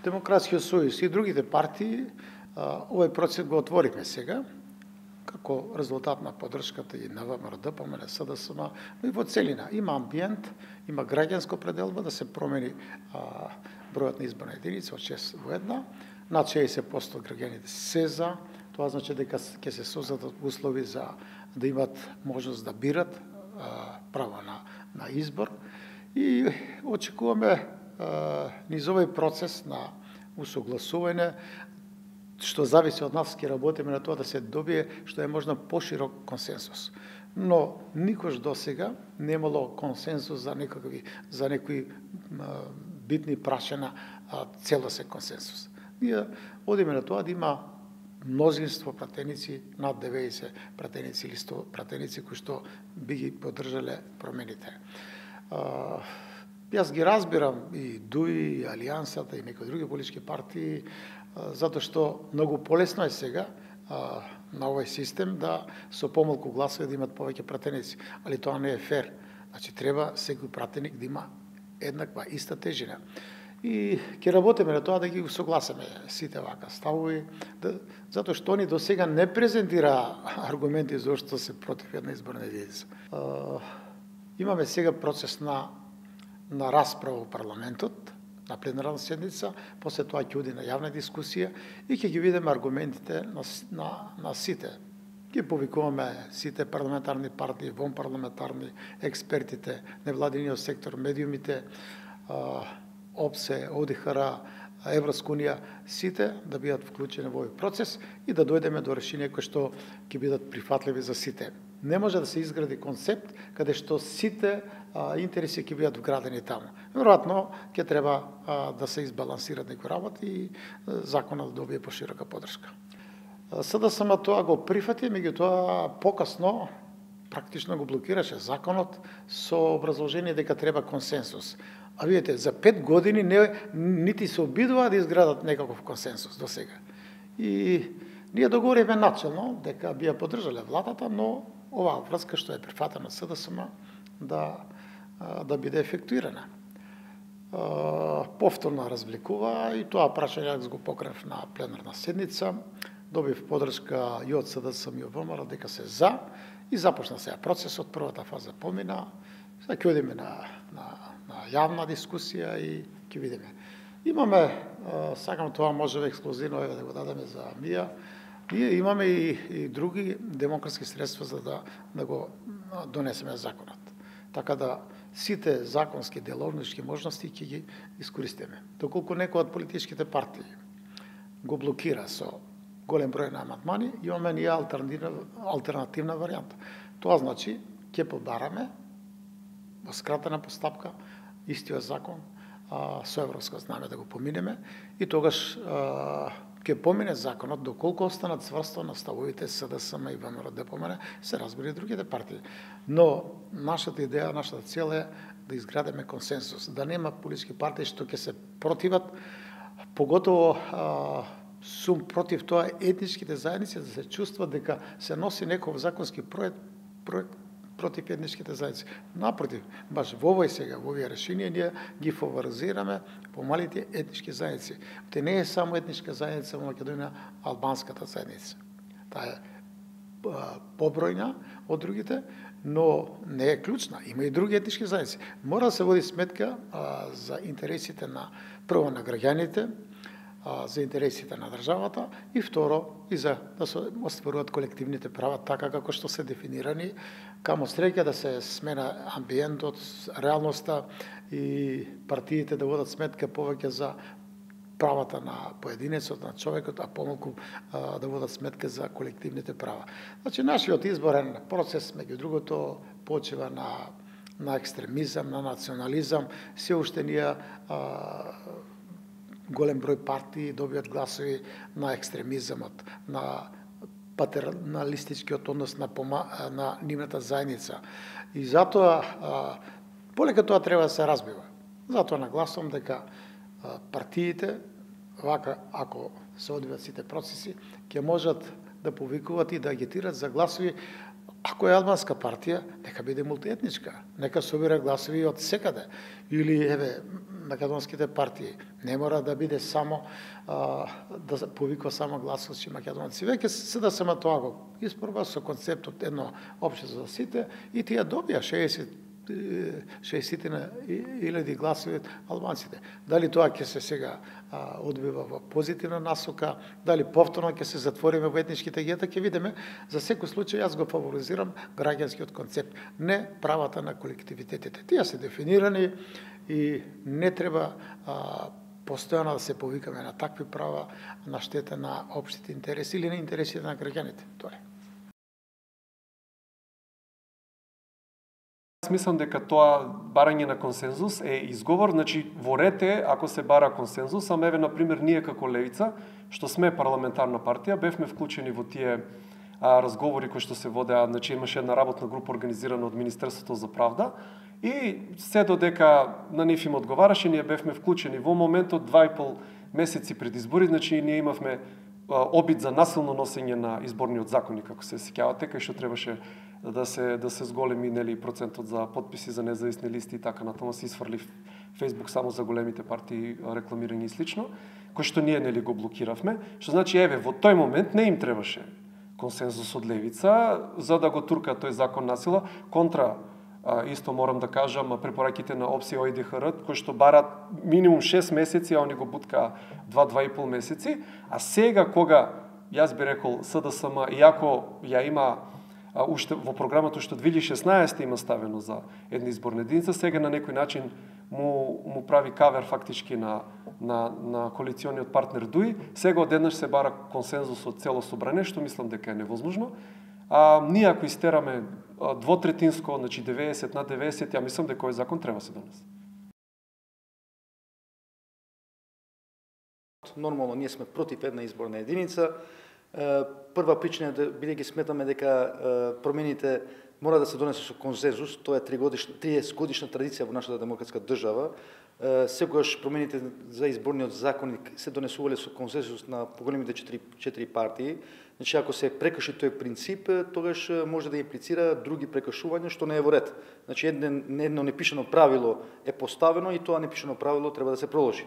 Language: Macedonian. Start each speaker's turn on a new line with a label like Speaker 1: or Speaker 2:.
Speaker 1: Демократскиот сојуз и другите партии овој процес го отворивме сега, како резултат на поддршката и на ВМРО, ДПМНЕ, СДСМ, но и во целина. Има амбиент, има граѓанска пределба да се промени бројот на изборна единица од 6 во 1. Над 60% од граѓаните се за. Тоа значи дека ќе се создадат услови за да имат можност да бират, право на избор. И очекуваме низ овој процес на усогласување, што зависи од нас, ќе работиме на тоа да се добие што е можно поширок консенсус. Но никош досега немало консенсус за некои битни прашања, целосен консенсус. Ние одиме на тоа да има мнозинство пратеници, над 90 пратеници или 100 пратеници кои што би ги поддржале промените. Јас ги разбирам и ДУИ, и Алијансата, и некои други политички партии, затоа што многу полесно е сега на овој систем да со помалку гласови да имат повеќе пратеници, али тоа не е фер. Значи треба секој пратеник да има еднаква, иста тежина. И ќе работиме на тоа да ги согласиме сите вака ставови, затоа што они до сега не презентира аргументи зашто се против една изборна единица. Имаме сега процес на расправа во парламентот, на пленарна седница, после тоа ќе оди на јавна дискусија и ќе ги видиме аргументите на сите. Ги повикуваме сите парламентарни партии, вонпарламентарни, експертите, невладиниот сектор, медиумите, ОПСЕ, ОДИХР, Европска унија, сите да бидат вклучени во овој процес и да дојдеме до решенија кои што ќе бидат прифатливи за сите. Не може да се изгради концепт каде што сите интереси ќе бидат вградени таму. Веројатно ќе треба да се избалансираат некои работи и законот да добие поширока поддршка. СДСМ тоа го прифати, меѓутоа покасно практично го блокираше законот со образложение дека треба консенсус. А видите, за 5 години нити се обидува да изградат некаков консенсус до сега. И ние договоривме начелно дека би ја поддржале владата, но оваа врска што е прифатена СДСМ да биде ефектуирана. Повторно развлекува и тоа прашање јас го покрев на пленарна седница. Добив поддршка и од СДСМ и од ВМРО дека се за и започна сега процесот, првата фаза помина. Сега ќе одиме на јавна дискусија и ќе видиме. Имаме, сакам тоа може ексклузивно да го дадеме за МИА, ние имаме и други демократски средства за да го донесеме законот. Така да сите законски деловнички можности ќе ги искористиме. Доколку некој од политичките партии го блокира со голем број на амандмани, имаме ние алтернативна варијанта. Тоа значи ќе побараме во скратена постапка истиот закон со европско знаме да го поминеме и тогаш ќе помине законот доколку останат цврсто на ставовите СДСМ и ВМРО, ДПМНЕ, се разбира и другите партии. Но нашата идеја, нашата цел е да изградиме консенсус, да нема политички партии што ќе се противат, поготово сум против тоа етничките заедници да се чувстват дека се носи некој законски проект против етничките заедници. Напротив, баш во овој сега, во овие решенија, ние ги фаворизираме помалите етнички заедници. Те не е само етничка заедница во Македонија, албанската заедница. Таа е побројна од другите, но не е клучна. Има и други етнички заедници. Мора да се води сметка за интересите на прво на граѓаните, за интересите на државата и второ и за да се остваруваат колективните права така како што се дефинирани, камо среќа да се смена амбиентот, реалноста и партиите да водат сметка повеќе за правата на поединецот, на човекот, а помалку да водат сметка за колективните права. Значи, нашиот изборен процес, меѓу другото, почива на екстремизам, на национализам, се уште ние голем број партии добијат гласови на екстремизамот, на патерналистичкиот однос на нивната заедница. И затоа, полека тоа треба да се разбива. Затоа нагласувам дека партиите, вака, ако се одвијат сите процеси, ќе можат да повикуваат и да агитираат за гласови. Ако е албанска партија, нека биде мултиетничка, нека собира гласови од секаде. Или, еве, македонските партии. Не мора да биде само да повикува само гласовци македонци. Веќе СДСМ тоа го испорба со концептот едно општество за сите и тие добија 60.000 гласови албанците. Дали тоа ќе се сега одбива во позитивна насока, дали повторно ќе се затвориме во етничките гета, ќе видиме. За секој случај јас го фаворизирам граѓанскиот концепт, не правата на колективитетите. Тие се дефинирани и не треба постојано да се повикаме на такви права на штета на општите интереси или на интересите на граѓаните. Тоа е.
Speaker 2: Мислам дека тоа барање на консензус е изговор, значи во ред е ако се бара консензус, ама еве например ние како Левица, што сме парламентарна партија, бевме вклучени во тие разговори кои што се водеа, значи имаше една работна група организирана од Министерството за правда и се додека на нив им одговараше, ние бевме вклучени во моментот 2,5 месеци пред избори, значи ние имавме обид за насилно носење на изборниот законник, ако се сеќавате, кај што требаше да се зголеми нели процентот за подписи за независни листи и така натаму се изфрли Facebook само за големите партии рекламирање и слично, кој што ние нели го блокиравме, што значи еве во тој момент не им требаше консензус од Левица за да го турка тој закон насила контра исто морам да кажам препораките на ОПСИ ОИДХР кои што барат минимум 6 месеци, а они го буткаа 2-2,5 месеци, а сега кога јас би рекол СДСМ иако ја има уште во програмата што 2016 има ставено за една изборна единица, сега на некој начин му прави кавер фактички на коалициониот партнер ДУИ, сега одеднаш се бара консензус од цело собрание, што мислам дека е невозможно. Ние ако истераме двотретинско, значи 90 на 90, ја мислам дека овој закон треба се донесе.
Speaker 3: Нормално ние сме против една изборна единица. Прва причина е бидејќи сметаме дека промените мора да се донесе со консензус, тоа е 30 годишна традиција во нашата демократска држава. Секогаш промените за изборниот законник се донесувале со консензус на поголемите 4 партии. Значи, ако се прекрши тој принцип, тогаш може да имплицира други прекршувања, што не е во ред. Значи, едно непишано правило е поставено и тоа непишано правило треба да се проложи.